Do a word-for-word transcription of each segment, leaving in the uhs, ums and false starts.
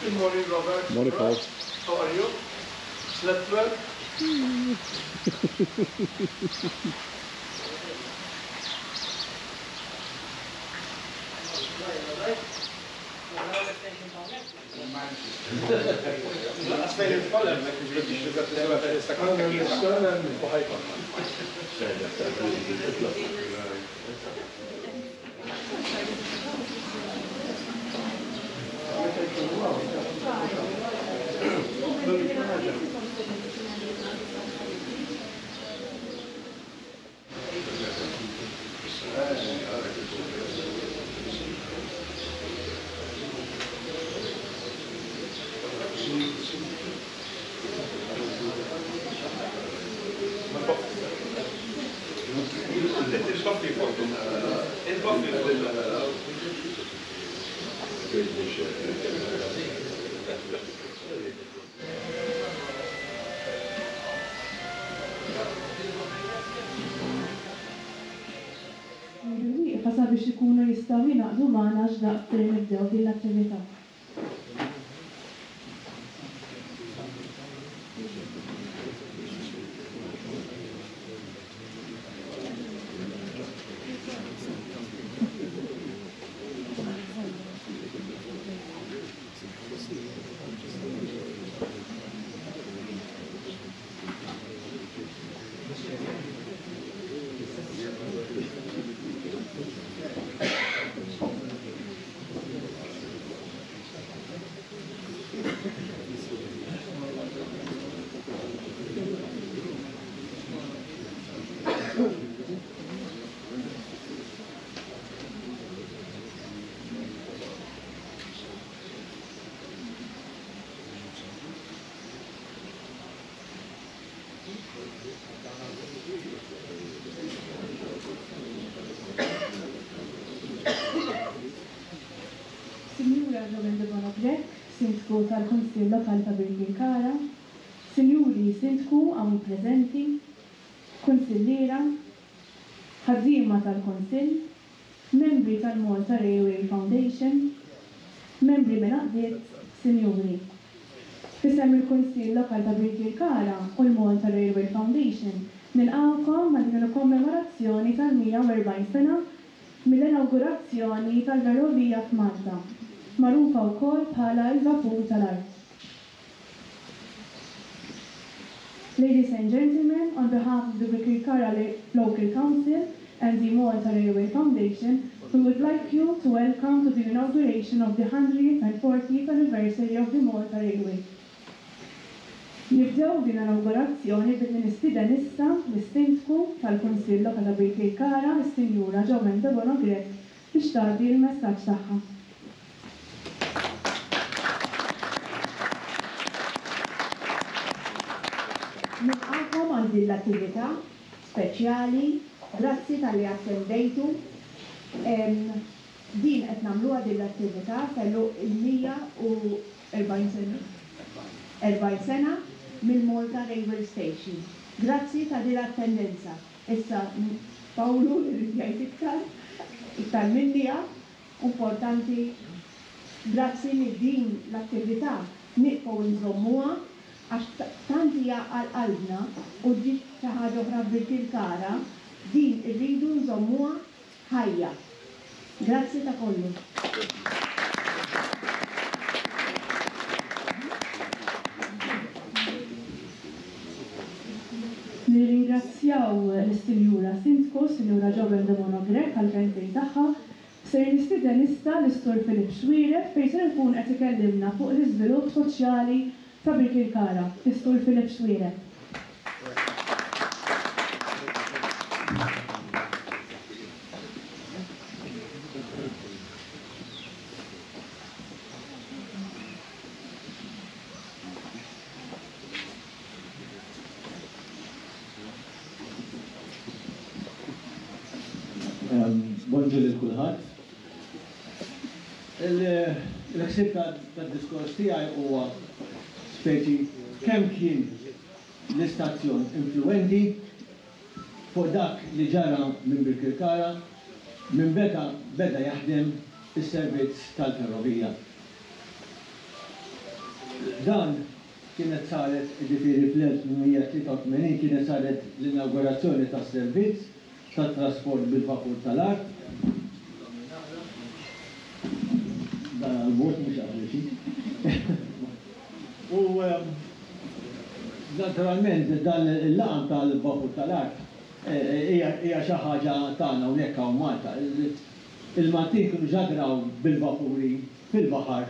Good morning, Robert. Morning, Paul. How are you? Slept well? Wieqfa sabiex ikunu jistgħu jingħaqdu magħna x'daqs li nibdew din l-attività. Sinjura Joanne Debono Grech, Sindku tal-Kunsill Lokali ta' Birkirkara, Sinjuri Sindku hawn preżenti, Kunsilliera, ħaddiema tal-Kunsill, membri tal-Malta Railway Foundation, membri minn għaqdiet, Sinjuri. F'isem il-Kunsill Lokali ta' Birkirkara u l-Malta Railway Foundation nilqgħukom għal din il-kommemorazzjoni tal-mija u erbgħin sena mill-inaugurazzjoni tal-Ferrovija f'Malta, magħrufa wkoll bħala l-Vapur tal-Art. Ladies and gentlemen, on behalf of the Birkirkara Local Council and the Malta Railway Foundation, we would like you to welcome to the inauguration of the hundred and fortieth anniversary of the Malta Railway. Nibdew din l-inaugurazzjoni billi nistieden issa lis-Sindku tal-Kunsill Lokali ta' Birkirkara, is-Sinjura Joanne Debono Grech, biex tagħti l-messaġġ tagħha. Nilqakom għal din l-attività speċjali, grazzi tal-li attendejtu. Em, din qed nagħmluha din l-attività fellu il-mija u erbgħin sena. Erbgħin sena mill-Malta Railway Station. Grazzi ta' din l-attendenza. Issa Pawlu irid jgħid iktar, iktar minni jaf, importanti. Grazzi li din l-attività nieqfgħu nżommuha għax tant hija għal qalbna u ġiet xi ħaġa oħra Birkirkara, din irridu nżommuha ħajja. Grazzi ta' kollu. Nirringrazzjaw lis-Sinjura Sindku, Sinjura Joanne Debono Grech għall-kelmtejn tagħha. Ser nistieden issa lis-Sur Philip Xuereb fejn ser ikun qed ikellimna fuq l-iżvilupp soċjali ta' Birkirkara. Is-Sur Philip Xuereb. Bonġu lil kulħadd. Il-ħsieb tad-diskors tiegħi huwa speċi kemm kien l-istazzjon influenti fuq dak li ġara minn Birkirkara minn beda beda jaħdem is-servizz tal-ferrovija. Dan kienet saret, ġifieri fl-elf tmien mija tlieta u tmenin kienet saret l-inaugurazzjoni tas-servizz tat-trasport bil-vapur tal-art. Dan għal-bot mhux għal. U naturalment dan il-laqam tal-vapur tal-art hija xi ħaġa tagħna hawnhekk hawn Malta. Il-Maltin kienu ġadraw bil-vapuri fil-baħar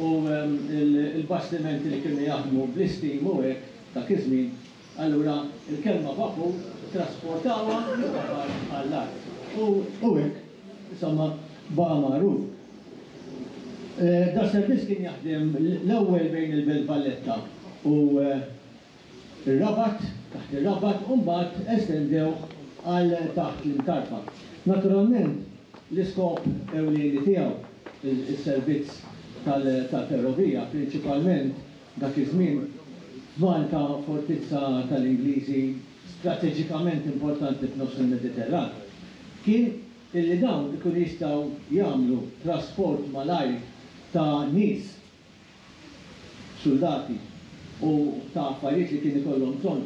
u il-bastimenti li kienu jaħdmu bl-istim u hekk dak iż-żmien, allura il-kelma vapur trasportawha mill-baħar għall-art. U hekk, insomma, baqa' magħruf. Da servizz kien jaħdem l-ewwel bejn il-Belt Valletta u ir-Rabat, taħt ir-Rabat, u mbagħad estendewh għal taħt l-Imtarfa. Naturalment, l-iskop ewlieni tiegħu is-servizz tal-ferrovija, prinċipalment dak iż-żmien Malta, fortizza tal-Ingliżi strateġikament importanti f'nofs il-Mediterran, kien illi dawn ikun jistgħu jagħmlu trasport malajr ta' nies, soldati u ta' affarijiet li kien ikollhom bżonn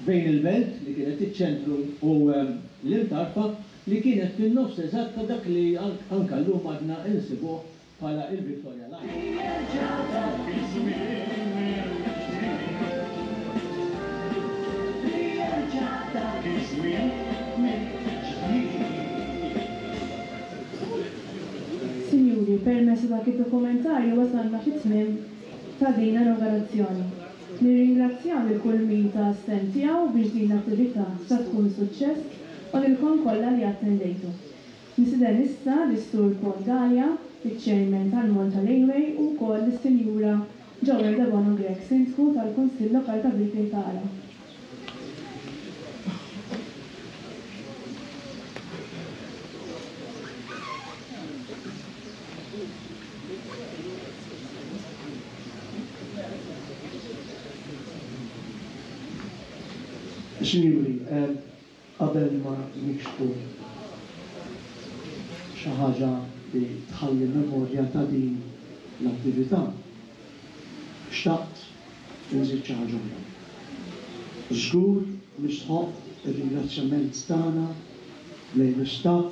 bejn il-belt li kienet iċ-ċentru u l-Imtarfa li kienet fin-nofs eżatt ta' dak li anka llum għadna insibuh bħala il-Victoria Line. Signori, permezz dak id-dokumentarju wasalna fit-tmiem ta' din l-inaugurazzjoni. Nirringrazzjaw lil kull min ta s-sehem tiegħu biex din l-attività sa tkun suċċess u lilkom kollha li attendejtu. Nistieden issa lis-Sur Paul Galea, iċ-Chairman tal-Malta Railway, u wkoll lis-Sinjura Joanne Debono Grech, Sindku tal-Kunsill Lokali ta' Birkirkara. Signori, qabel ma nikxfu xi ħaġa li tħalli memorja ta' din l-attività, xtaqt inżid xi ħaġa oħra. Żgur nistħoq ir-ringrazzjament tagħna lejn l-istaff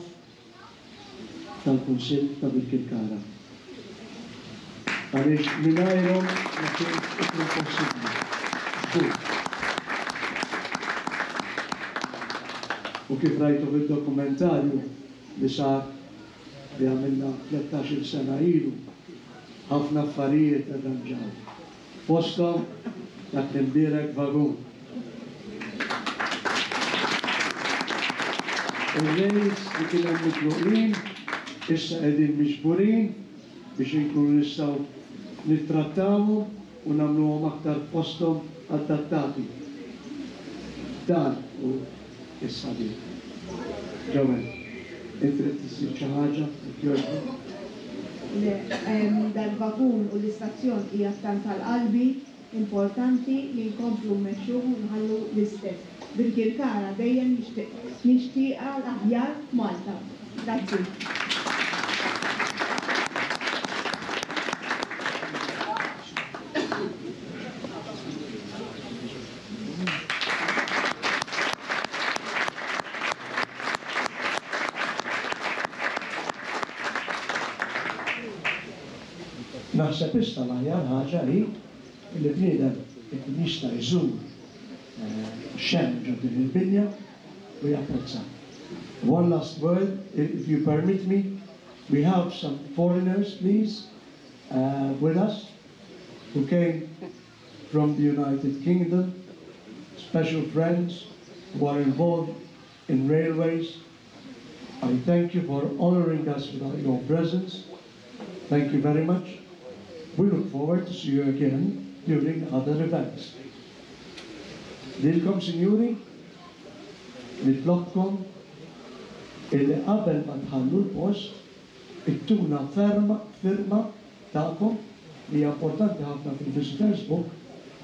tal-Kunsill ta' Birkirkara. Għaliex mingħajrhom ma kienx ikun possibbli. Żgur. U kif rajtu fid-dokumentarju li sar li għamilna tlettax-il sena ilu, ħafna affarijiet irranġaw. Fosthom dak l-imbierek vagun. Ir-rails li kien hemm mitluqin issa qegħdin miġburin biex inkunu nistgħu nittrattawhom u nagħmluhom aktar fosthom adattati. Dan hu is-sabiħ. Joanne, inti trid tissir xi ħaġa, jekk jogħġbok? Le, dal-vagun u l-istazzjon hija tant tal-qalbi, importanti li nkomplu mmexxuh u nħallu l-istess. Birkirkara dejjem nixtieqha l-aħjar f'Malta. Grazzi. Naħseb issa l-aħjar ħaġa hi li bniedem ikun jista' jżur xemm ġo din il-binja u japprezza. One last word, if you permit me, we have some foreigners, please, uh, with us, who came from the United Kingdom, special friends who are involved in railways. I thank you for honoring us with your presence. Thank you very much. We look forward to see you again during other events. Lilkom, signori, nitlobkom illi qabel ma tħallu l-post, ittuna ferma, firma tagħkom li hija importanti ħafna fil-Visitors Book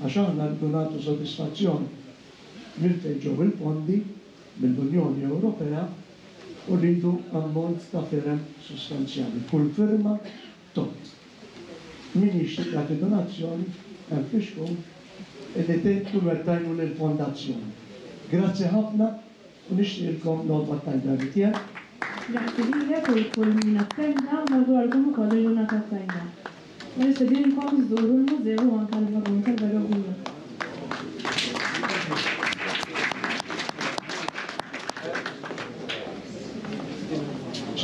għax aħna rridu nagħtu sodisfazzjon minn fejn ġew il-fondi mill-Unjoni Ewropea u rridu ammont ta' firem sostanzjali. Kull firma tgħodd. Min jixtieq jagħti donazzjoni hemm fixkun illi tkunu qed tgħinu lill-fondazzjoni. Grazzi ħafna u nixtieqilkom l-għodwa tajba tiegħek. Grazzi lilek u kull min attenda u nawguralkom ukoll il-ġurnata tajba. U nistedinkom żżuru l-mużew u anke l-vagun tal-ferrovija.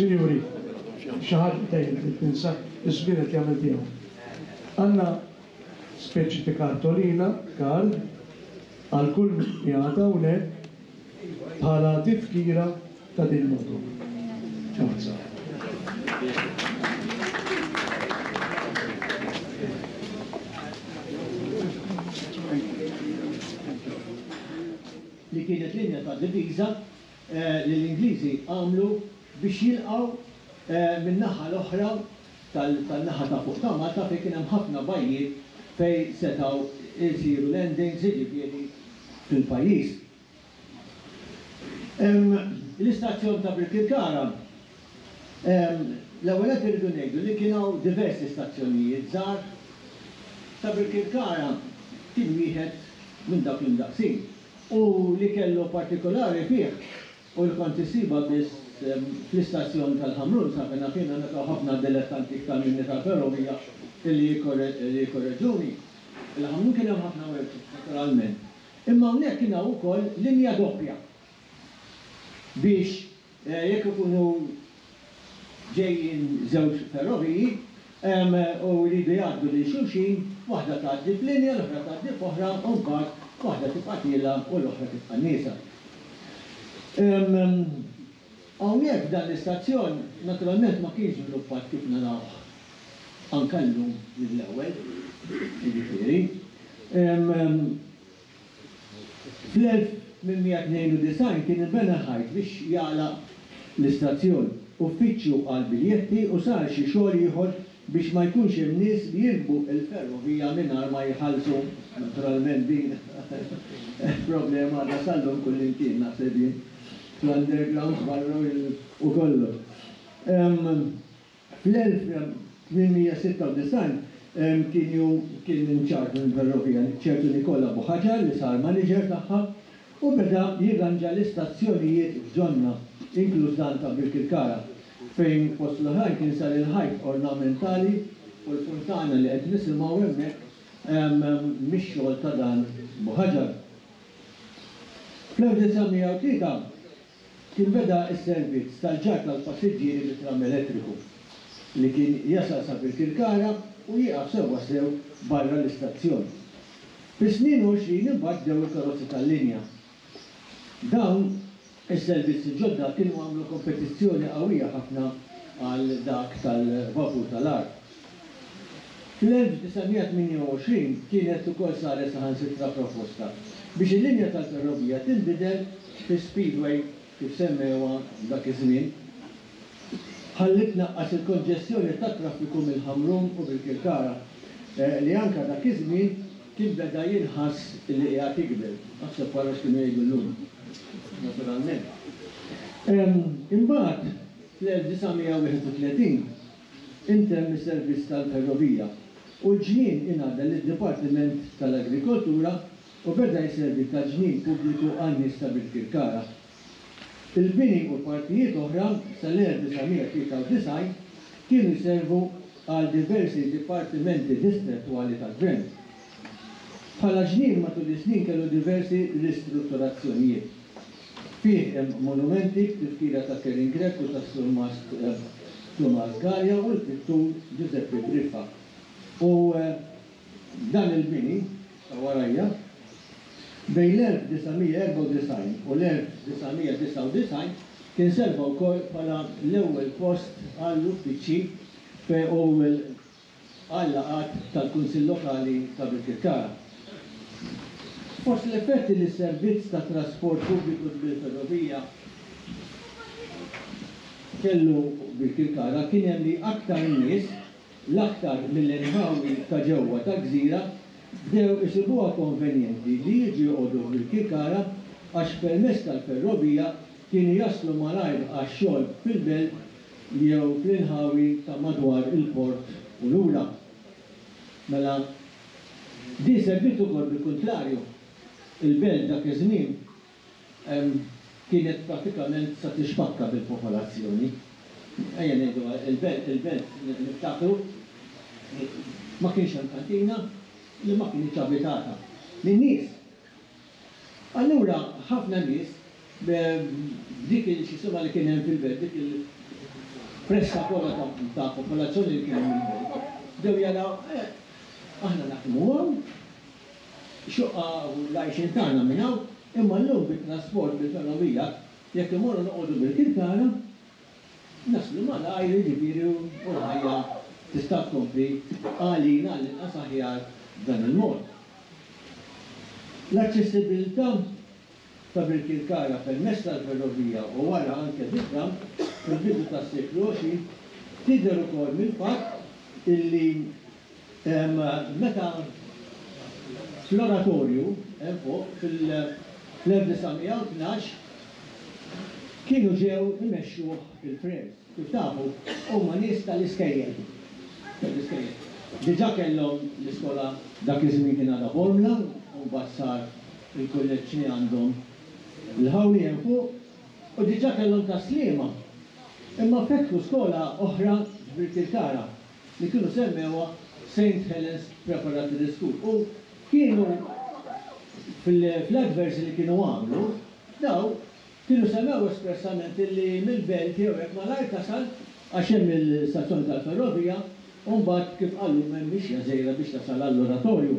Sinjuri, xi ħadd dejjem tinsa iż-żmien qed jagħmel tiegħu. Għandna speċi ta' kartolina, card, għal kull min qiegħed hawnhekk bħala tifkira ta' din l-għodwa. Forza. Li kienet linja ta' diviża li l-Ingliżi għamlu biex jilqgħu min-naħa l-oħra tan-naħa ta' fuq ta' Malta fejn kien hemm ħafna bajjiet fejn setgħu jsiru landings, jiġifieri fil-pajjiż. L-istazzjon ta' Birkirkara, l-ewwel qed irridu ngħidu li kien hawn diversi stazzjonijiet żgħar. Ta' Birkirkara kien wieħed minn dawk l-imdaqsin u li kellu partikolari fih u li kont issiba biss fl-istazzjon tal-Ħamrun sa fejn naf jiena nilqgħu ħafna dilettanti iktar minni tal-ferrovija illi jikkorreġuni. Il-Ħamrun kien hemm ħafna workshops naturalment. Imma hawnhekk kien hawn ukoll linja doppja biex jekk ikunu ġejjin żewġ ferroviji u jridu jgħaddu lil xulxin, waħda tgħaddi f'linja, l-oħra tgħaddi f'oħra, u mbagħad waħda tibqa' tiela' u l-oħra tibqa' nieżla. Hawnhekk dan l-istazzjon naturalment ma kienx żviluppat kif narawh anke llum mill-ewwel, jiġifieri. Fl-elf tmien mija tnejn u disgħin kien inbena ħajt biex jagħlaq l-istazzjon, uffiċċju għal biljetti u sar xi xogħol ieħor biex ma jkunx hemm nies li jirkbu l-ferrovija mingħajr ma jħallsu. Naturalment din problema għadha sal-lum kullimkien naħseb jien, fl-undergrounds barra u kollox. Fl-elf tmien mija sitta u disgħin kien kien inċarġ minn ferrovija ċertu Nikola Buħaġar li sar manager tagħha u beda jirranġa l-istazzjonijiet f'ġonna, inkluż dan ta' Birkirkara, fejn fost l-oħrajn kien sar il-ħajt ornamentali u l-funtana li qed nisimgħu hemmhekk mix-xogħol ta' dan Buħaġar. Fl-elf disa' mija u tlieta kien beda s-servizz tal-ġarr tal-passiġġieri bit-tram elettriku li kien jasal sa Birkirkara u jieqaf sewwa sew barra l-istazzjon. Fis-snin għoxrin imbagħad bdew il-karozzi tal-linja. Dawn is-servizzi ġodda kienu għamlu kompetizzjoni qawwija ħafna għal dak tal-vapur tal-art. Fl-elf disa' mija tmienja u għoxrin kienet ukoll saret saħansitra proposta biex il-linja tal-ferrovija tinbidel fi speedway kif semmewha dak iż-żmien, ħalli tnaqqas il-konġestjoni tat-traffiku mill-Ħamrun u Birkirkara, li anke dak iż-żmien kien beda jinħass li qiegħed jikber. Naħseb wara x'kienu jgħidu llum, naturalment. Imbagħad fl-elf disa' mija wieħed u tletin intemm is-servizz tal-ferrovija u l-ġnien ingħadda lid-Dipartiment tal-Agrikoltura u beda jservi ta' ġnien pubbliku għan-nies ta' Birkirkara. Il-bini u partijiet oħra sal-elf disa' mija tlieta u disgħin kienu jservu għal diversi dipartimenti distrettuali tal-gvern. Bħala ġnien matul is-snin kellu diversi ristrutturazzjonijiet. Fih hemm monumenti b'tifkira ta' Kerin Grech u tas-surmast Tumas Galea u l-pittur Giuseppe Briffa. U dan il-bini ta' warajja bejn l-elf disa' mija erbgħa u disgħin u l-elf disa' mija disa' u disgħin kien serva wkoll bħala l-ewwel post għall-uffiċċji u għal-laqgħat tal-Kunsill Lokali ta' Birkirkara. Fost l-effetti li s-servizz ta' trasport pubbliku bil-ferrovija kellu Birkirkara kien hemm li aktar nies, l-aktar mill-inħawi ta' ġewwa tal-gżira, bdew isibuha konvenjenti li jiġu joqogħdu f'Birkirkara għax permezz tal-ferrovija kienu jaslu malajr għax-xogħol fil-belt jew fl-inħawi ta' madwar il-port u lura. Mela din serviet ukoll bil-kuntrarju. Il-belt dak iż-żmien kienet pratikament sa tixpakka bil-popolazzjoni. Ejja ngħidu il-belt, il-belt niftakru ma kienx hemm kantina li ma kienx abitata min-nies. Allura ħafna nies b'dik il-xisima li kien hemm fil-belt, dik il-pressa kollha ta' popolazzjoni li kien hemm fil-belt, bdew jaraw aħna naħdmu hawn, xoqqa u l-għajxien tagħna minn hawn, imma llum bit-trasport bil-ferrovija, jekk imorru noqogħdu Birkirkara, naslu malajr, jiġifieri u l-ħajja tista' tkompli għalina għall-inqas aħjar b'dan il-mod. L-aċċessibilità ta' Birkirkara permezz tal-ferrovija u wara anke bit-tram fil-bidu tas-seklu għoxrin tidher ukoll mill-fatt illi meta fl-oratorju hemm fuq fil-elf disa' mija u tnax kienu ġew imexxuh il-Frères. Kif tafu, huma nies tal-iskejjel. Tal-iskejjel. Diġà kellhom l-iskola dak iż-żmien kien għadha Bormla, u mbagħad sar il-kulleġġ li għandhom l-ħawli hemm fuq, u diġà kellhom tas-Sliema. Imma fetħu skola oħra f'Birkirkara li kienu semmewha Saint Helens Preparatory School. U kienu fl-adverts li kienu għamlu, daw kienu semmew espressament illi mill-belt jew hekk malajr tasal għax hemm il-stazzjoni tal-ferrovija, u mbagħad kif qalu m'hemm mixja żgħira biex tasal għall-oratorju.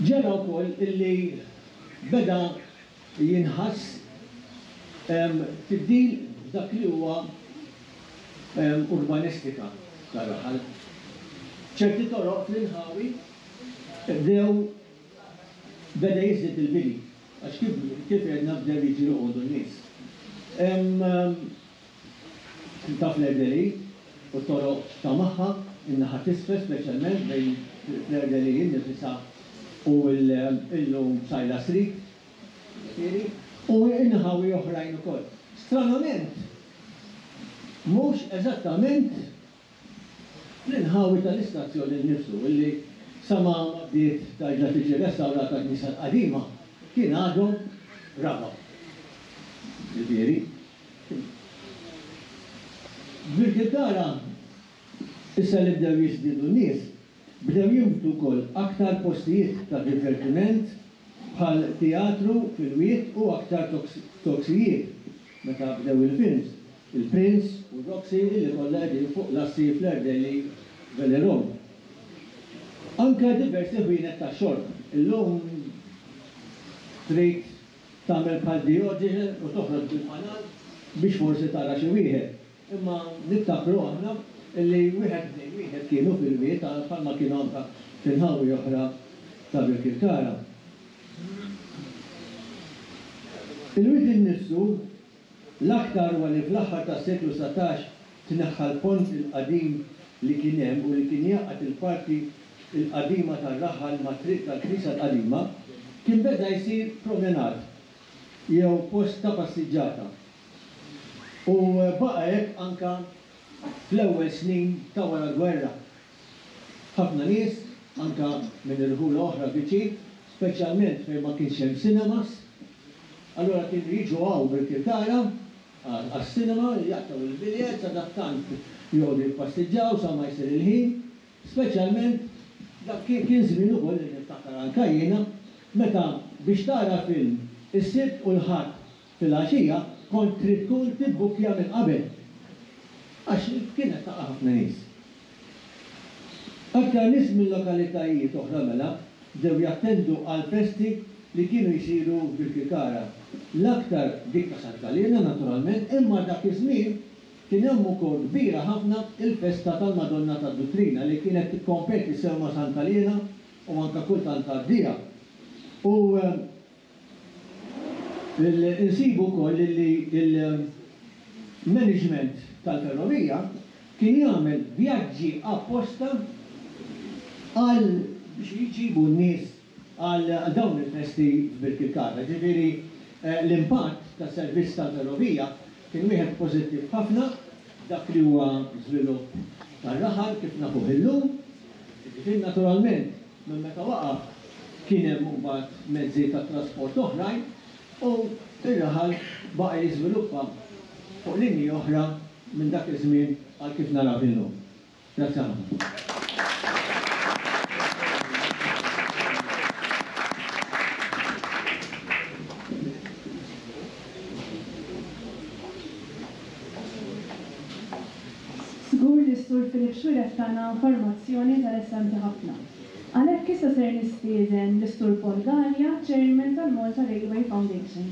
Ġara wkoll illi beda jinħass tibdil f'dak li huwa urbanistika tar-raħal. Ċerti toroq fl-inħawi bdew beda jiżdied il-bini, għax kif, kif għedna bdew jiġu joqogħdu n-nies. Ta' Fleur-de-Lys u toroq ta' magħha, in-naħa t'isfel speċjalment bejn Fleur-de-Lys innifisha u illum Sajla Street, u inħawi oħrajn ukoll. Stranament, mhux eżattament l-inħawi tal-istazzjoni nnifsu, illi sa ma bdiet tarġa' tiġi restawrata l-knisja l-qadima, kien għadhom raba'. Ġifieri, Birkirkara, issa li bdew jiżdiedu n-nies, bdew jinbtu wkoll aktar postijiet ta' divertiment bħal teatru fil-wied u aktar toksijiet meta bdew il-films, il-Prince u Roxy illi kollha qegħdin fuq l-assi fl-Erdeli Valley Road. Anke diversi ħwienet ta' xorb. Illum trid tagħmel bħal Diogenes u toħroġ bil-fanal biex forsi tara xi wieħed. Imma niftakru aħna illi wieħed tnejn wieħed kienu fil-wied bħalma kienu anke fil-ħawi oħra ta' Birkirkara. Il-wied innifsu l-aktar huwa li fl-aħħar tas-seklu satax tneħħa l-pont il-qadim li kien hemm u li kien jaqgħad il-parti il-qadima tar-raħal ma' triq tal-Knisja l-qadima, kien beda jsir promenad jew post ta' passiġġata. U baqa' hekk anka fl-ewwel snin ta' wara l-gwerra. Ħafna nies, anka minn irħula oħra viċin, speċjalment fejn ma kienx hemm cinemas, allura kienu jiġu hawn Birkirkara għas-cinema, jaqtgħu il-biljett, sadattant joqogħdu jippassiġġaw sa ma jsir il-ħin, speċjalment dak kien żmien ukoll li niftakar anka jiena, meta biex tara film is-Sibt u l-Ħadd fil-għaxija kont trid tkun tibbukkja minn qabel, għax kienet taqa' ħafna nies. Aktar nies minn lokalitajiet oħra mela bdew jattendu għal festi li kienu jsiru f'Birkirkara. L-aktar dik ta' Santa Liena naturalment, imma dak iż-żmien kien hemm ukoll kbira ħafna il-festa tal-Madonna tad-Duttrina li kienet tikkompeti sew ma' Santa Liena u anka kultant tgħaddiha. U insibu wkoll li il-management tal-ferrovija kien jagħmel vjaġġi apposta għal biex jġibu n-nies għal dawn il-festi f'Birkirkara. Ġifieri l-impatt tas-servizz tal-ferrovija kien wieħed pożittiv ħafna dak li huwa żvilupp tar-raħal kif nafuh illum. Jiġifieri naturalment minn meta waqaf kien hemm imbagħad mezzi ta' trasport oħrajn u r-raħal baqa' jiżviluppa fuq linji oħra minn dak iż-żmien għal kif naraw illum. Grazzi ħafna. Żgur li s-Sur Philip Xuereb tana informazzjoni interessanti ħafna. Għalhekk issa ser nistieden lis-Sur Paul Galea, Chairman tal-Malta Railway Foundation.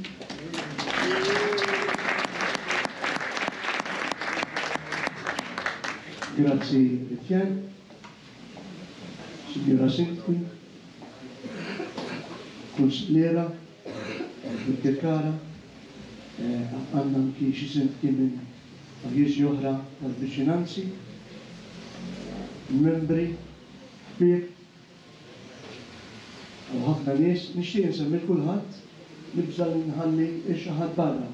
Grazzi Etienne, Signora Sindku, Kunsilliera, Birkirkara, għandna anki xi sindki minn pajjiżi oħra tal-viċinanzi, membri, ħbieb, u ħafna nies, nixtieq insemmi lil kulħadd, nibża' li nħalli xi ħadd barra.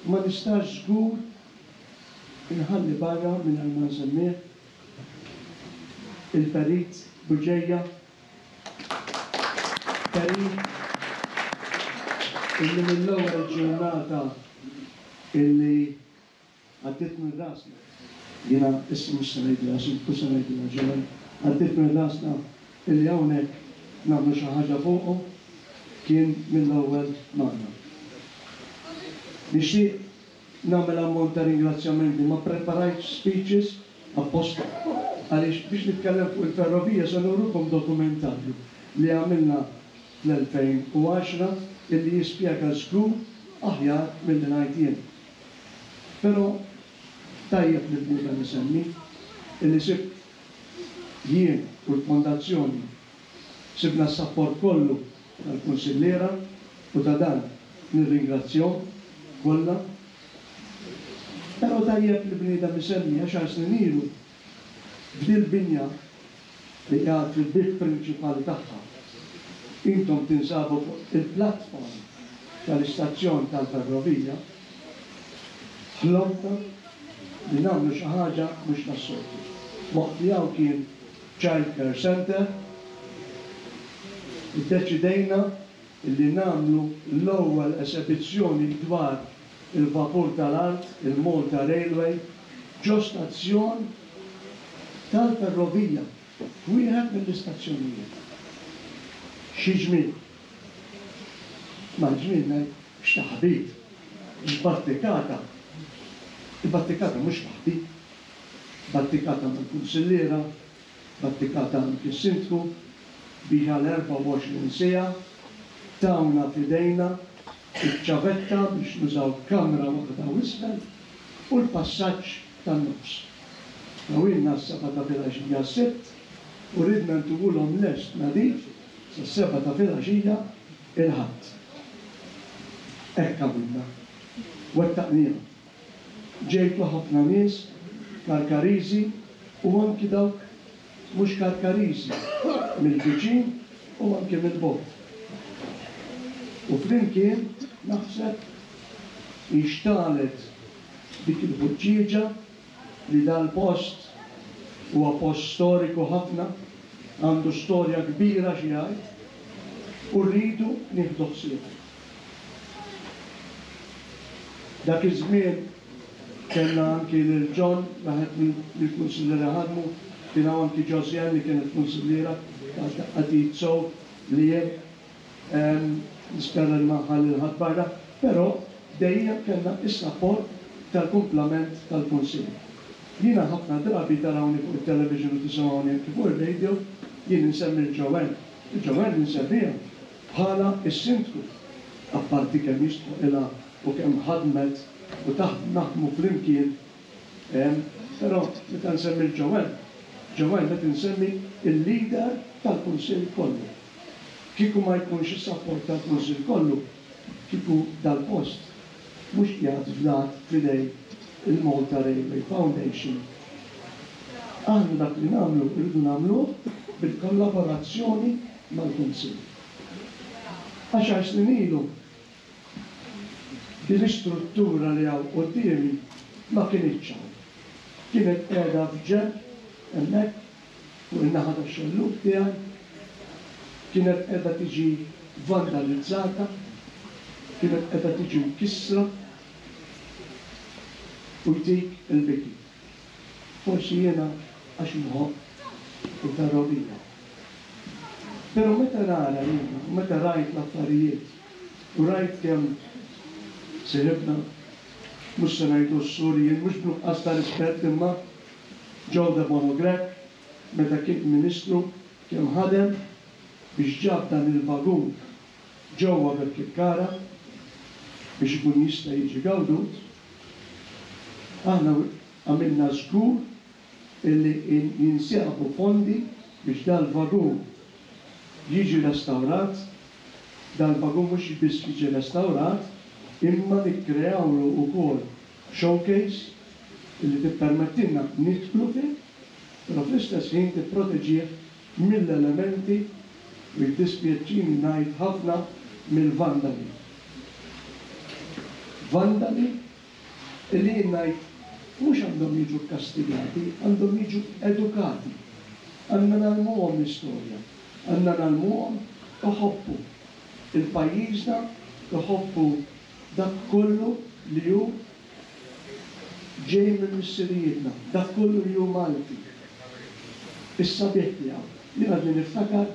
Ma nistax żgur inħalli barra mingħajr ma nsemmih il-Perit Buġeja, Perit illi mill-ewwel ġurnata illi għaddiet minn rasna, jiena issa mhux se ngħidilha xi se ngħidilha ġewwa, għaddiet minn rasna illi hawnhekk nagħmlu xi ħaġa fuqu, kien mill-ewwel magħna. Nixtieq nagħmel ammont ta' ringrazzjamenti, ma preparajtx speeches apposta għaliex biex nitkellem fuq il-ferrovija se nurukom dokumentarju li għamilna fl-elfejn u għaxra illi jispjega żgur aħjar milli ngħid jien. Però tajjeb li bniedem isemmi illi sibt jien u l-fondazzjoni sibna s-sapport kollu tal-kunsilliera u ta' dan nirringrazzjahom kollha. Però tajjeb li bniedem isemmi għaxar snin ilu f'dil binja li qiegħed fil-bieb prinċipali tagħha. Intom tinsabu fuq il-platform tal-istazzjon tal-ferrovija, ħlomna li nagħmlu xi ħaġa mhux tas-soltu. Waqt li hawn kien Child Care Center, iddeċidejna li nagħmlu l-ewwel esebizzjoni dwar il-vapur tal-art, il-Malta Railway, ġo stazzjon tal-ferrovija, wieħed mill-istazzjonijiet. Xi ġmiel. Ma ġmiel ngħid x'taħbit, x'battikata. Il-battikata mhux waħdi, battikata mal-kunsilliera, battikata anki s-sindku, biex għal erbgħa u għoxrin siegħa tawna f'idejna iċ-ċavetta biex nużaw kamra waħda u isfel u l-passaġġ tan-nofs. Tawilna s-seba' ta' filgħaxija s-sibt u ridna ntuwulhom lest nadif sas-seba' ta' filgħaxija il-Ħadd. Hekk għamilna, wettaqniha. Ġejtu ħafna nies Karkariżi u anki dawk mhux Karkariżi mill-viċin u anki mill-bogħod. U flimkien naħseb inxtalet dik il-ħuġġieġa li dal-post huwa post storiku ħafna, għandu storja kbira xi jgħid, u rridu nieħdu ħsieb. Dak iż-żmien kellna anki lil John, waħed mill-kunsilliera ħadmu, kien hawn anki Josiane li kienet kunsilliera ta' sew li jien nispera li ma nħalli l-ħadd barra, però dejjem kellna is-sapport tal-kumplament tal-Kunsill. Jiena ħafna drabi tarawni fuq it-television u tisimgħuni anki fuq ir-radio, jien insemmi l-Joanne. Il-Joanne insemmiha bħala s-sindku, apparti kemm jistħoqilha u kemm ħadmet u taħt naħdmu flimkien, però meta nsemmi l-Joanne, Joanne qed insemmi il-leader tal-Kunsill kollu. Kieku ma jkunx is-sapport tal-Kunsill kollu, kieku dal-post mhux qiegħed fdat f'idej il-Malta Railway Foundation. Aħna dak li nagħmlu rridu nagħmluh bil-kollaborazzjoni mal-Kunsill. Għaxar snin ilu din l-istruttura li hawn quddiemi ma kinitx hawn. Kienet qiegħda f'ġenb hemmhekk fuq in-naħa tax-xellug tiegħi, kienet qiegħda tiġi vandalizzata, kienet qiegħda tiġi mkissra u jtik il-biki. Forsi jiena għax nħobb il-ferrovija. Però meta nara jiena, u meta rajt l-affarijiet u rajt kemm siribna, mhux se ngħidu s-Surjin, mhux b'nuqqas ta' rispett imma Joe Debono Grech, meta kien Ministru, kemm ħadem biex ġab dan il-vagun ġewwa Birkirkara biex ikun jista' jiġi gawdut. Aħna għamilna żgur illi jinsabu fondi biex dal-vagun jiġi restawrat. Dal-vagun mhux biss jiġi restawrat, imma nikkreawlu wkoll showcase illi tippermettilna nidħlu fih, però fl-istess ħin tipproteġih mill-elementi u jiddispjaċini ngħid ħafna mill-vandali. Vandali illi jien ngħid mhux għandhom jiġu kkastigati, għandhom jiġu edukati. Għandna ngħallmuhom l-istorja, għandna ngħallmuhom iħobbu il-pajjiżna, iħobbu dak kollu li hu ġej minn missirijietna, dak kollu li hu Malti. Is-sabiħ tiegħu. Jien għadni niftakar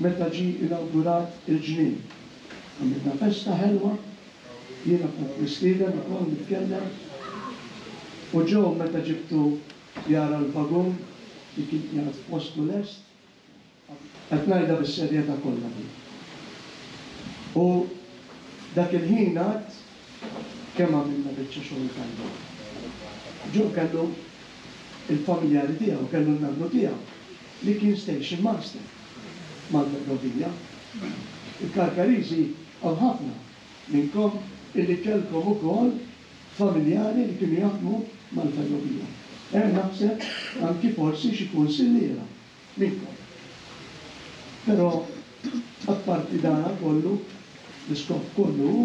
meta ġie inawgurat il-ġnien. Għamilna festa ħelwa, jiena kont mistieden ukoll nitkellem, u ġew meta ġibtu jara l-vagun li kien qiegħed f'postu lest, qed ngħidha bis-serjetà kollha din. U dak il-ħin għad kemm għamilna biċċa xogħol tajba. Ġew kellu il-familjari tiegħu, kellu n-nannu tiegħu li kien station master mal-ferrovija. Il-Karkariżi hawn ħafna minnkom illi kellkom ukoll familjari li kienu jaħdmu mal-ferrovija. Hemm naħseb anki forsi xi kunsilliera minnkom. Però apparti dan kollu, l-iskop kollu hu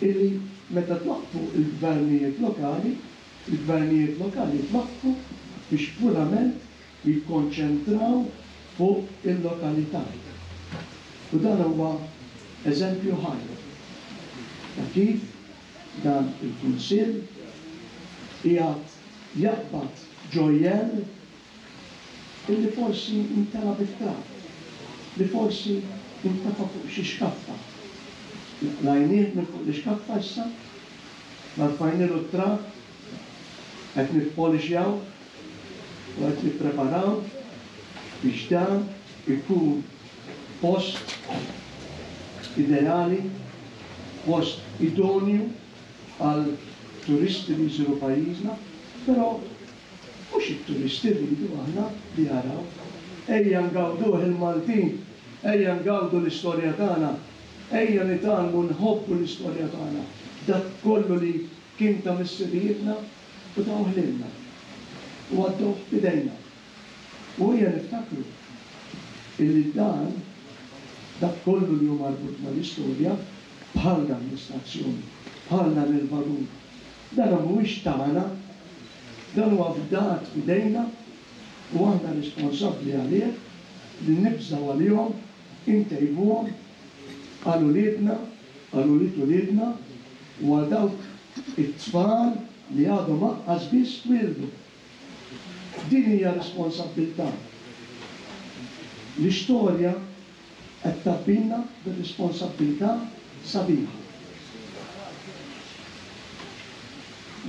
illi meta twaqqfu il-gvernijiet lokali, il-gvernijiet lokali twaqqfu biex purament jikkonċentraw fuq il-lokalità. U dan huwa eżempju ħaj ta' kif dan il-Kunsill qiegħed jaqbad ġojjel illi forsi intela bit-trab, li forsi intafa fuq xi xkaffa. Lajnieh minn fuq l-ixkaffa issa, narfajnilu t-trab, qed nippolixjaw u qed nippreparaw biex dan ikun post ideali, post idonju għal turisti li jżuru pajjiżna, però mhux it-turisti rridu aħna li jaraw. Ejja ngawduh il-Maltin, ejja ngawdu l-istorja tagħna, ejja nitgħallmu nħobbu l-istorja tagħna, dak kollu li kien ta' missirijietna u tawh lilna u għaddewh f'idejna. U ejja niftakru illi dan dak kollu li hu marbut mal-istorja bħal dan l-istazzjon, bħal dan il-vagun, dan mhuwiex tagħna, dan huwa fdat f'idejna u aħna responsabbli għalih li nibżgħu għalihom, intejbuhom għal uliedna, għal ulied uliedna u għal dawk it-tfal li għadhom anqas biss twieldu. Din hija responsabbiltà. L-istorja qed tabbina bir-responsabbiltà sabiħa.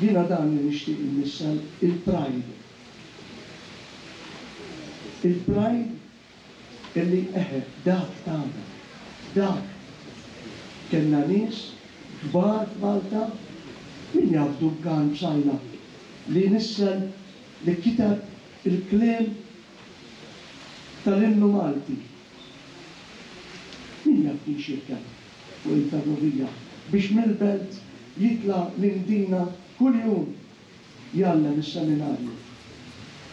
Jiena dan li nixtieq innissel il-pride. Il-pride illi eħe dak tagħna, dak kellna nies kbar f'Malta, min jaf Duncan Psaila li nissel li kiteb il-kliem tal-innu Malti. Min jaf kien xirkeb fuq il-ferrovija biex mill-belt jitla' l-Imdina kuljum jgħallem is-seminarju.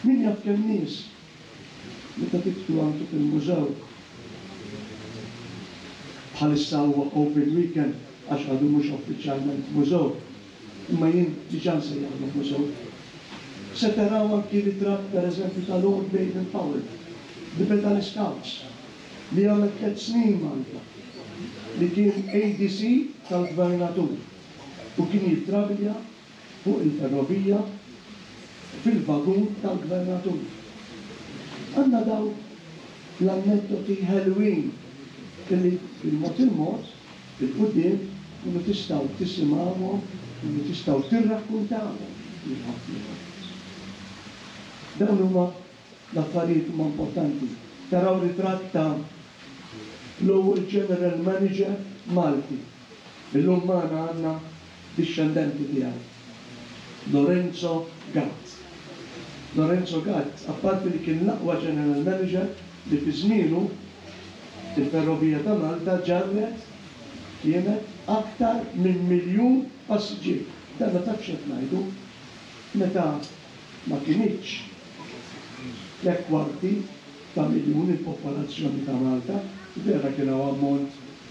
Min jaf kemm nies meta tidħlu anki fil-mużew bħalissa huwa open weekend għax għadu mhux uffiċjalment mużew, imma jien diġà nsejjaħlu mużew. Se taraw anki ritratt pereżempju ta' Lord Baden Powell, li beda l-Scouts, li għamel tliet snin Malta, li kien A D C tal-Gvernatur u kien jittravilja fuq il-ferrovija fil-vagun tal-Gvernatur. Għandna daw l-anneddoti ħelwin illi bil-mod il-mod, bil-quddiem, kunu tistgħu tisimgħuhom, kunu tistgħu tirrakkuntawhom lil ħaddieħor. Dawn huma l-affarijiet huma importanti. Taraw ritratt ta' l-ewwel General Manager Malti. Illum magħna għandna dixxendenti tiegħu, Lorenzo Gatt. Lorenzo Gatt, apparti li kien l-aqwa General Manager li fi żmienu il-Ferrovija ta' Malta ġarret kienet aktar minn miljun passiġġier. Dan ma tafx qed ngħidu meta ma kinitx tliet kwarti ta' miljun il-popolazzjoni ta' Malta, vera kien hawn ammont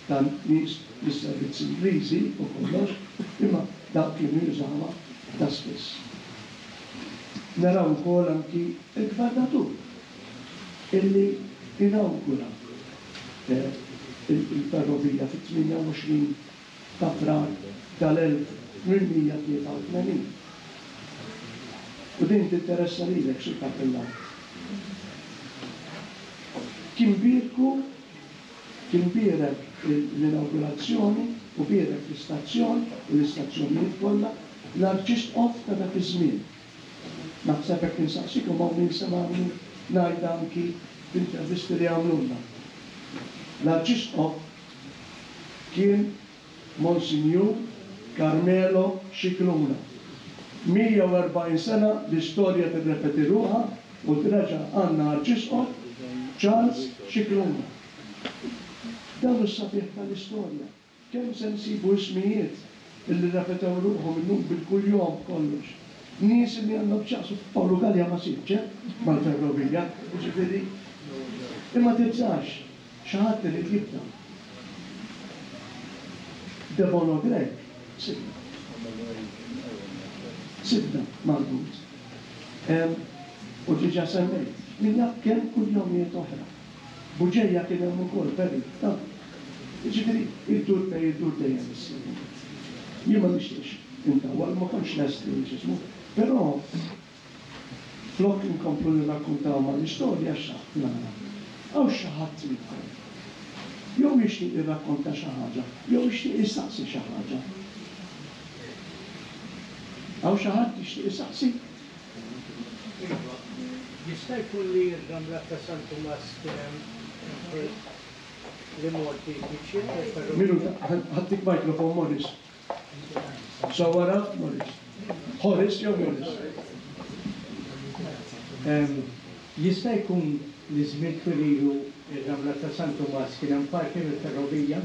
ta' nies mis-servizzi Ingliżi u kollox, imma dawk kienu jużawha ta' spiss. Naraw ukoll anki il-gvernatur illi inawgura, eh, il-ferrovija fit-tmienja u għoxrin ta' Frar tal-elf tmien mija tlieta u tmenin. U din tinteressa lilek, Sur Kappillan. Kien birku, kien bierek l-inaugurazzjoni u bierek l-istazzjon u l-istazzjonijiet kollha l-Arċisqof ta' dak iż-żmien. Naħseb hekk insaqsikom hawn min semgħani ngħid anki f'intervisti li għamlulna. L-Arċisqof kien Monsinjur Carmelo Scicluna. mija u erbgħin sena l-istorja tirrepeti ruħha u treġa' għandna Arċisqof Charles Scicluna. Dan hu s-sabiħ tal-istorja. Kemm se nsibu ismijiet illi repetew ruħhom illum bil-kuljom kollox. Nies li għandhom x'jaqsu Pawlu Galea ma sibx, eh, mal-ferrovija, jiġifieri. Imma tibżax, xi ħadd irid jibda. Debono Grech, sibna. Sibna marbut. Em, u diġà semmejt, min jaf kemm kuljomijiet oħra. Buġeja kien hemm ukoll perit, ta' jiġifieri iddur fejn iddur dejjem issibu. Jien ma nixtieqx intawwal, ma kontx lest li x'ismu, però flok inkomplu nirrakkuntaw mal-istorja x'aħt nara. Hawn xi ħadd minnkom. Jew jixtieq jirrakkonta xi ħaġa, jew jixtieq jistaqsi xi ħaġa. Hawn xi ħadd jixtieq jistaqsi? Iva, jista' jkun li r-ramla ta' San Tumas kien hemm li Morti biċċiet tal-ferrovija? Minuta, ħadtik mikrofon, Morris. Sawara, Morris. Horace jew Morris? Em, jista' jkun li żmien twililu ir-ramla ta' San Tumas kien hemm parti mill-ferrovija?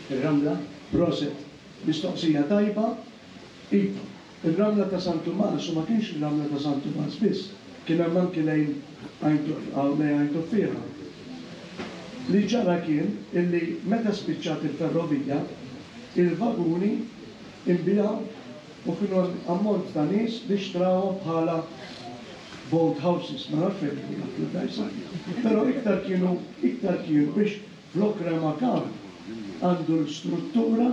Ir-ramla? Proset, mistoqsija tajba. Iva, ir-ramla ta' San Tumas, u ma kienx ir-ramla ta' San Tumas biss, kien hemm anki lejn Għajn Tuffieħa. Li ġara kien illi meta spiċċat il-ferrovija, il-vaguni inbijaw u kienu ammont ta' nies li xtrawhom bħala boat houses, ma nafx fejn kienu jagħmlu dajsa. Però iktar kienu, iktar kienu biex flok remakan għandu l-struttura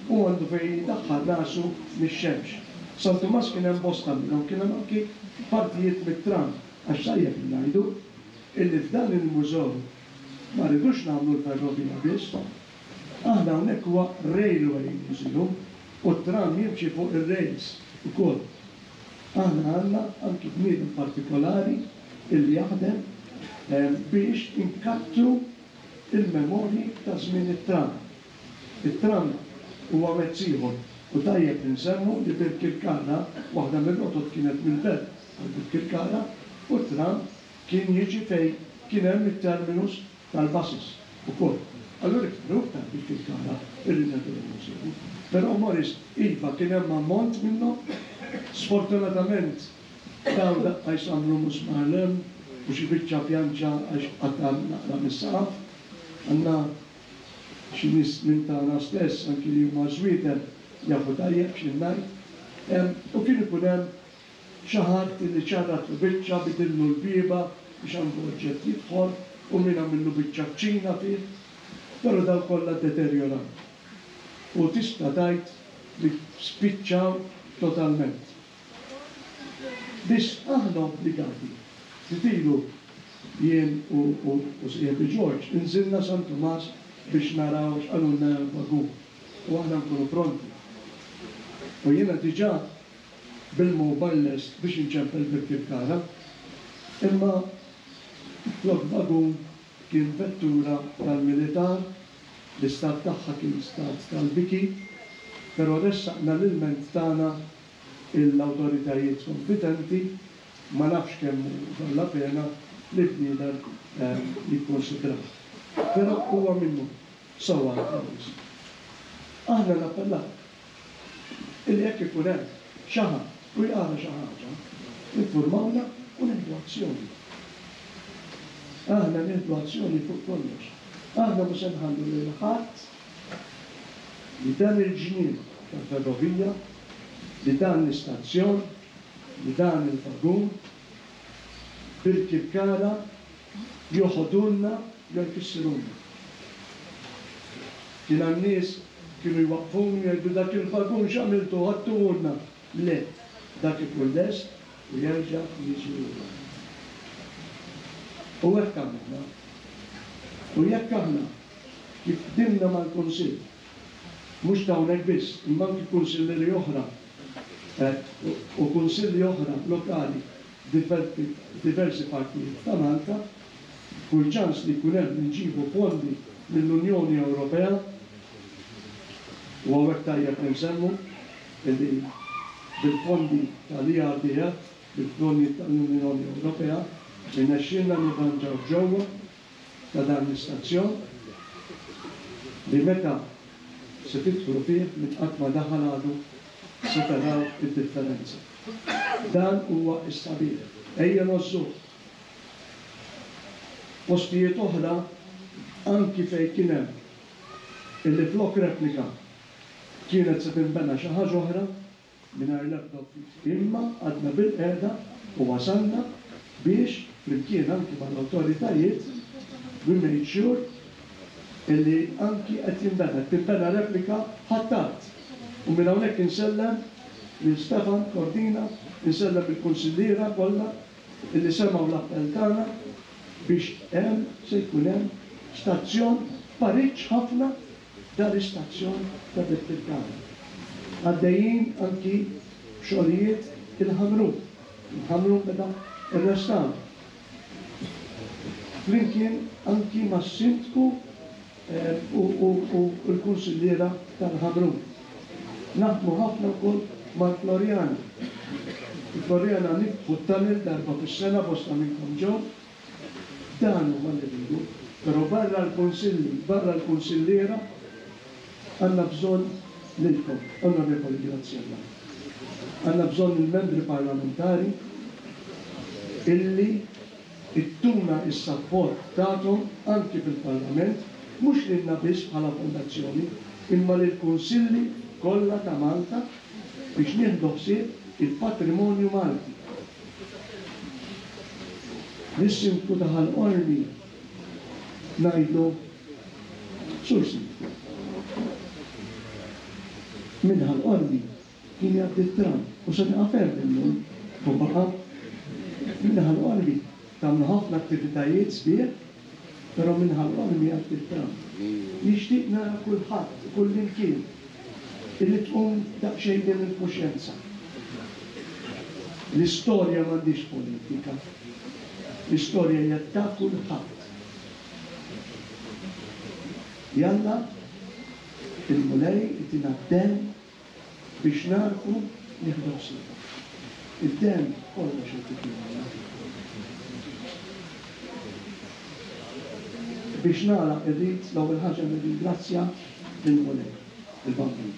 u għandu fejn jidaħħal rasu mix-xemx. San Tumas kien hemm bosta minnhom, kien hemm anki partijiet mit-tram, għax tajjeb li ngħidu illi f'dan il-mużew ma rridux nagħmlu l-ferrovija biss. Aħna hawnhekk huwa Railway Museum u t-tram jimxi fuq ir-rails ukoll. Aħna għandna anki bniedem partikolari illi jaħdem, eh, biex inkattru il-memorji ta' żmien it-tram. It-tram huwa mezz ieħor u tajjeb li nsemmu li Birkirkara, waħda mir-rotot kienet mill-Belt għal Birkirkara, u t-tram kien jiġi fejn kien hemm it-terminus tal-buses ukoll. Allura iktar u iktar Birkirkara irridna nsibu. Però Morris, iva kien hemm ammont minnhom, sfortunatament dawn daqqa jsamlu musmar lem u xi biċċa pjanċa għax qatta' naqra mis-saqaf. Għandna xi nies minn tagħna stess anki li huma żwieten jafu tajjeb xi ngħid. Em, u kien ikun hemm xi ħadd li ċarratlu biċċa, bidillu l-bieba biex għandu oġġett jidħol u min għamillu biċċa kċina fih, però dawn kollha ddeterjoraw. U tista' tgħid li spiċċaw totalment. Biss aħna obbligati. Ftit ilu jien u u sieħbi George inżilna San Tumas biex naraw x'qalulna hemm vagun u aħna nkunu pronti. U jiena diġà bil-mobile lest biex inċempel Birkirkara. Imma flok vagun kien vettura tal-militar, l-istat tagħha kien stat tal-biki, però ressaqna l-ilment tagħna l-awtoritajiet kompetenti, ma nafx kemm hu valla pena li bniedem jikkonsidrah. Però huwa minnu sewwa l-ħames. Aħna nappellaw illi jekk ikun hemm xi ħadd u jara xi ħaġa, infurmawna u nieħdu azzjoni. Aħna nieħdu azzjoni fuq kollox. Aħna mhu se nħallu lil ħadd li dan il-ġnien tal-ferrovija, li dan l-istazzjon, li dan il-vagun, Birkirkara joħodulna jew jkissirulna. Kien hemm nies kienu jwaqqfuni u jgħidu dak il-vagun x'għamiltu ħadtuhulna. Le, dak ikun lest u jerġa' jiġi lura. U hekk għamilna. U jekk aħna kif ħdimna mal-Kunsill, mhux ta' hawnhekk biss, imma anki kunsillieri oħra u kunsilli oħra lokali f'diversi partijiet ta' Malta, kull ċans li jkun hemm li nġibu fondi mill-Unjoni Ewropea, u hawnhekk tajjeb li nsemmu illi bil-fondi tal-E R D F, bil-fondi tal-Unjoni Ewropea, irnexxielna nirranġaw ġewwa ta' dan l-istazzjon li meta se tidħlu fih minn qatt ma daħal għadu se taraw id-differenza. Dan huwa s-sabiħ. Ejja ngħożżuh. Postijiet oħra anki fejn kien hemm illi flok replika kienet se tinbena xi ħaġa oħra mingħajr l-ebda uffiċċju. Imma għadna bil-qiegħda u wasalna biex flimkien anki mal-awtoritajiet we made sure illi anki qed jinbena, qed tinbena replika ħadd. U minn hawnhekk insellem lil Stefan Cordina, insellem il-kunsilliera kollha illi semgħu l-appell tagħna biex hemm se jkun hemm stazzjon pariġġ ħafna dal-istazzjon ta' Birkirkara. Għaddejjin anki b'xogħlijiet il-Ħamrun. Il-Ħamrun beda r-restawr. Flimkien anki mas-sindku u, u, u l-kunsilliera tal-Ħamrun. Naħdmu ħafna wkoll mal-Floriana. Il-Floriana niftħu t-tunnel darba fis-sena bosta minnkom ġew. Dan huwa li rridu, però barra l-kunsilli, barra l-kunsilliera għandna bżonn lilkom, Onorevoli Graziella. Għandna bżonn il-membri parlamentari illi ittuna is-sapport tagħhom anki fil-Parlament, mhux lilna biss bħala fondazzjoni, imma lill-kunsilli kollha ta' Malta biex nieħdu ħsieb il-patrimonju Malti. Lis-sindku ta' Ħal Qormi ngħidlu Sur Sindku. Minn Ħal Qormi kien jgħaddi t-tram u se nieqaf hemm illum u baqa' minn Ħal Qormi tagħmlu ħafna attivitajiet sbieħ, però minn Ħal Qormi jgħaddi t-tram. Nixtieq nara kulħadd, kullimkien, illi tqum daqsxejn din il-kuxjenza. L-istorja m'għandix politika. L-istorja hija ta' kulħadd. Jalla il-Mulej itina d-demm biex narfu nieħdu ħsiebha. Id-demm kollox irid ikun. Biex nagħlaq irrid l-ewwel ħaġa nirringrazzja lill-Mulej, il-Bambin,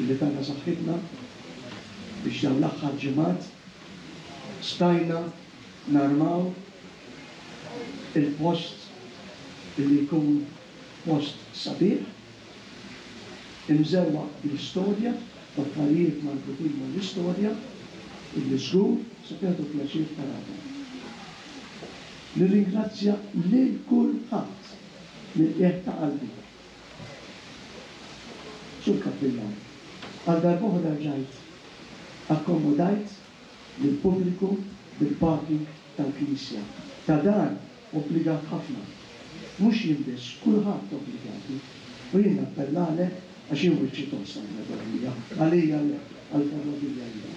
illi tana saħħitna biex dawn l-aħħar ġimgħat stajna narmaw il-post illi jkun post sabiħ, imżewwaq bl-istorja, b'affarijiet marbutin mal-istorja, illi żgur se tieħdu pjaċir tarawha. Nirringrazzja lil kulħadd mill-qiegħ ta' qalbi. Sur Kappillan, għal darb'oħra rġajt akkomodajt lill-pubbliku bil-parking tal-Knisja. Ta' dan obbligat ħafna. Mhux jien biss, kulħadd obbligati. U jien nappellalek għax jien wiċċi tost għall-ferrovija, għalija le, għall-ferrovija iva.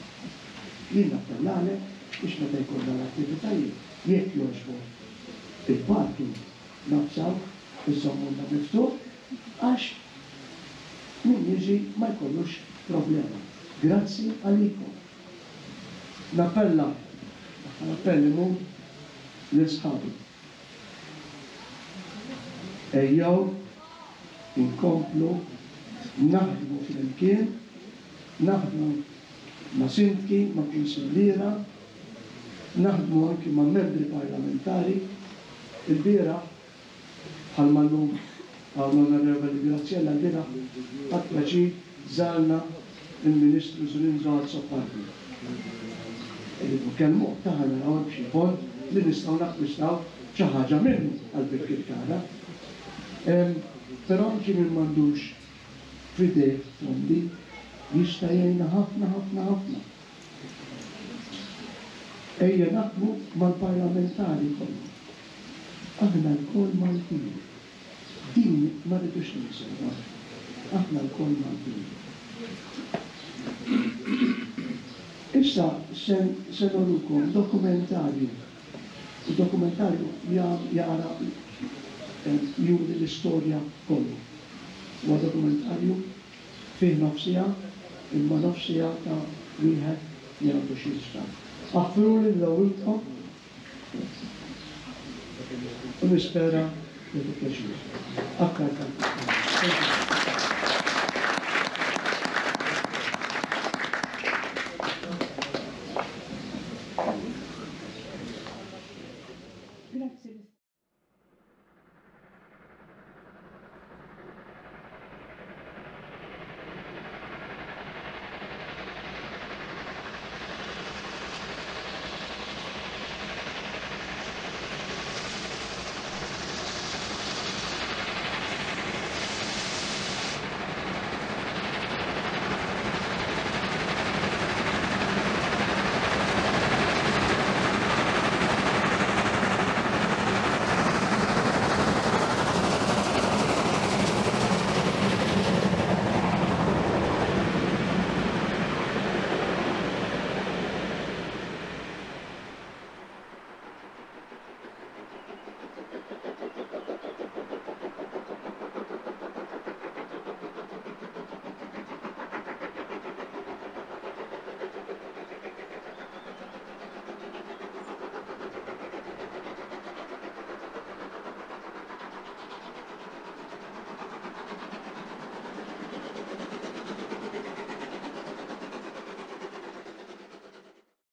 Jien nappellalek biex meta jkollna l-attivitajiet, jekk jogħġbok il-parking nafsawh iżommulna miftuħ għax min jiġi ma jkollux problema. Grazzi għalikom. Nappella, l-appell imur lil sħabi. Ejjew inkomplu naħdmu flimkien, naħdmu ma' sindki, ma' kunsilliera, naħdmu anki ma' membri parlamentari. Il-bieraħ, bħalma llum hawn l-Onorevoli Graziella, l-bieraħ ħadt pjaċir żarna il-Ministru Zrinzo Azzopardi. Irridu nkellmuh ta' ħa naraw hemm xi fond li nistgħu nakkwistaw xi ħaġa minnu għal Birkirkara. Però anki min m'għandux f'idejh fondi jista' jgħinna ħafna ħafna ħafna. Ejja naħdmu mal-parlamentari kollha. Aħna lkoll Maltin. Din ma rridux ninsewha. Aħna lkoll Maltin. Issa se norukom dokumentarju. Il-dokumentarju jara juri l-istorja kollha. Huwa dokumentarju fih nofs siegħa, imma nofs siegħa ta' wieħed li għandu xi jisfa'. Aħfruli ndawwilkom u nispera li tieħdu pjaċir. Aktar tard.